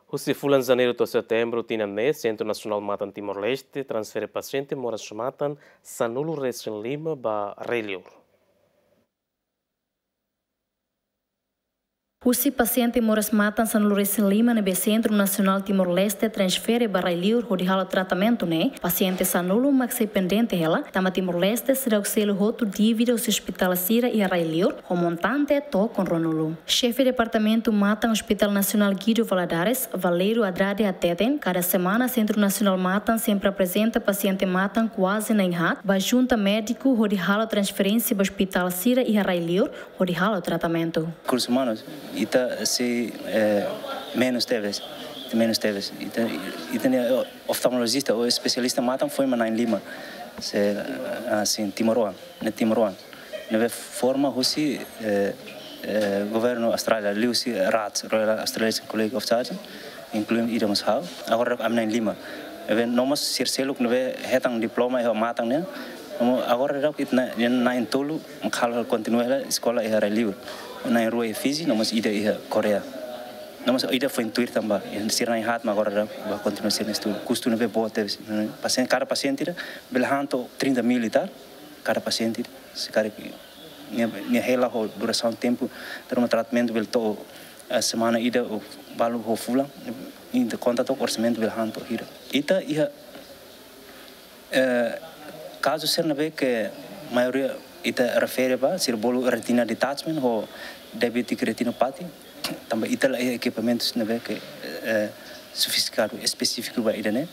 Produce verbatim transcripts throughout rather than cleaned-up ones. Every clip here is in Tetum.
Husi fulan Janeiru to'o Setembru tinan ne'e, Sentru Nasionál Matan Timor-Leste transfere pasiente moras-matan sanulu resin lima ba rai-liur. Husi pasiente moras-matan sanulu resin lima ne'ebé Sentru Nasionál Timor-Leste transfere ba rai-liur hodi halo tratamentu ne'e, pasiente sanulu mak sei pendente hela, tanba Timor-Leste seidauk selu hotu dívida husi ospitál sira iha rai-liur, ho montante tokon ruanulu. Xefe Departamentu Matan Hospital Nasionál Guido Valadares, Valerio Andrade hateten, kada semana Sentru Nasionál Matan sempre aprezenta pasiente matan kuaze na'in haat ba junta médiku hodi halo transferénsia ba ospitál sira iha rai-liur hodi halo tratamentu. Rekursus umanus, ita sei, eh, menus tebes, menus tebes. Ita, ita-nia, eh, oftalmolojista ou espesialista matan foin mak na'in-lima. Se, ah, sin timoroan, ne'e timoroan. Ne'ebé forma husi, eh, eh, governu Austrália, liuhusi RACS, Royal Australasian College of Surgeons, inklui ida mós ha'u. Agora ami na'in-lima. Ne'ebé no mós sira seluk ne'ebé hetan diploma iha matan ne'e. No mós agora daudaun ita na'in, na'in-tolu, mak halo kontinua hela eskola iha rai-liur. Na'in-rua iha Fiji, no mós ida iha Koreia. No mós ida foin tuir tanba, sira na'in haat mak agora daudaun bá kontinua sira-nia estudu. Kustu ne'ebé boot tebes. Pasiente, kada pasiente ida bele han to'o trinta mil e tal, kada pasiente ida. Se karik nia, nia hela ho durasaun tempu, terma tratamentu bele to'o, eh, semana ida ou balu ho fulan, ita konta to'o orsamentu bele han to'o hira. Ita iha, eh, kazu sira ne'ebé ke maioria ita refere ba, sira bolu retina detachment ho diabetic retinopathy, tanba ita la iha ekipamentus ne'ebé ke, eh, sofistikadu, espesífiku ba ida-ne'e.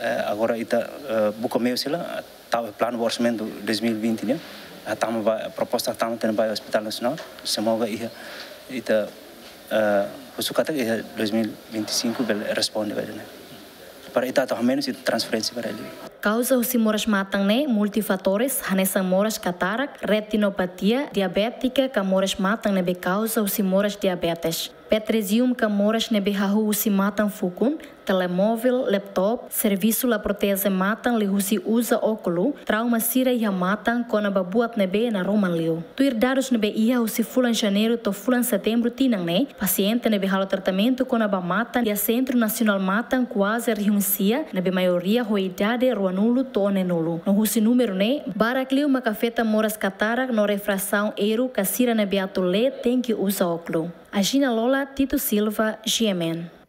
Eh, agora ita, eh, buka meius hela, tau planu ba orsamentu dois mil e vinte nian, hatama ba, proposta hatama tiha ona ba Hospital Nasionál, semoga iha, ita, eh, husu katak iha dois mil vinte e cinco bele responde ba ida-ne'e. Para ita atu hamenus ita transferénsia ba rai-liur. Kauza husi moras matan ne'e multifatores, hanesan moras katarak, retinopatia diabétika ka moras matan ne'ebé kauza husi moras diabetes. Petresium ka moras ne'ebé hahú husi matan fukun, telemóvel, laptop, servisu la proteje matan liuhusi uza ókulu, trauma sira iha matan kona-ba buat ne'ebé naroman liu. Tuir dadus ne'ebé iha husi fulan Janeiru to'o fulan Setembru tinan ne'e, pasiente ne'ebé halo tratamentu kona-ba matan iha Sentru Nasionál Matan kuaze rihun sia, ne'ebé maioria ho idade ruanulu to'o neenulu. No husi númeru ne'e, barak liu mak afeta moras katarak no refrasaun eiru ka sira ne'ebé atu lee tenke uza ókulu. Agina Lola, Tito Silva, G M N.